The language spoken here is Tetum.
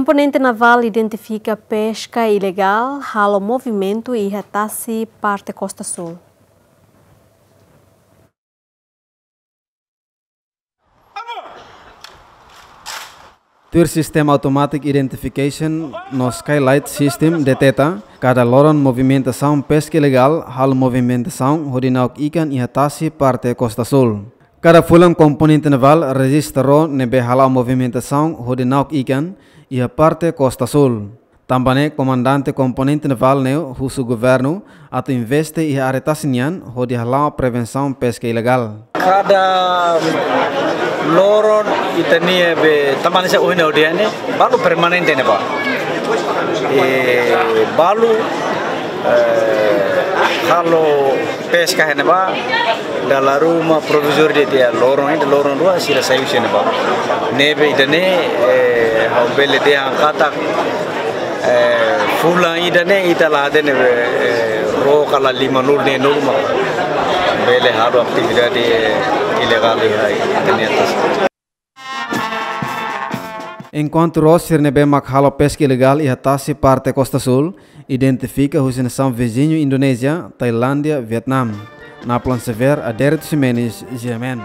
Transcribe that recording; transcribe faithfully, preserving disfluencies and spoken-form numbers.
Komponente navál identifika peska ilegál halo movimentu iha tasi parte Kosta Súl. Tuir sistema automatic identification no skylight system deteta kada loron movimentasaun peska ilegál halo movimentasaun hodi na'ok ikan iha tasi parte Kosta Súl. Kada fulan komponente navál rejista ró ne'ebé hala'o movimentasaun hodi na'ok ikan iha parte Kosta Súl. Tanba ne'e komandante komponente navál ne'e husu governu atu investe iha área tasi nian hodi hala'o prevensaun peska ilegál. Kada loron ita-nia be tamani sa uhina odiane balu permanente ne'ebá. E balu eh, halo peska iha ne'ebá dala ruma provizóriu de'it iha loron ida loron rua sira sai husi ne'ebá. Ne'ebé ida-ne'e eh, ha'u bele dehan katak eh, fulan ida-ne'e ita la hatene be eh, ró ka la lima nulu neen nulu mak bele halo atividade eh, ilegál iha ita-nia tasi. Enkuantu ró sira ne'ebé mak halo peska ilegál iha tasi parte Kosta Súl identifika husi nasaun viziñu Indonézia, Tailándia, Vietnam. Naplan Xavier, Adérito Ximenes, G M N.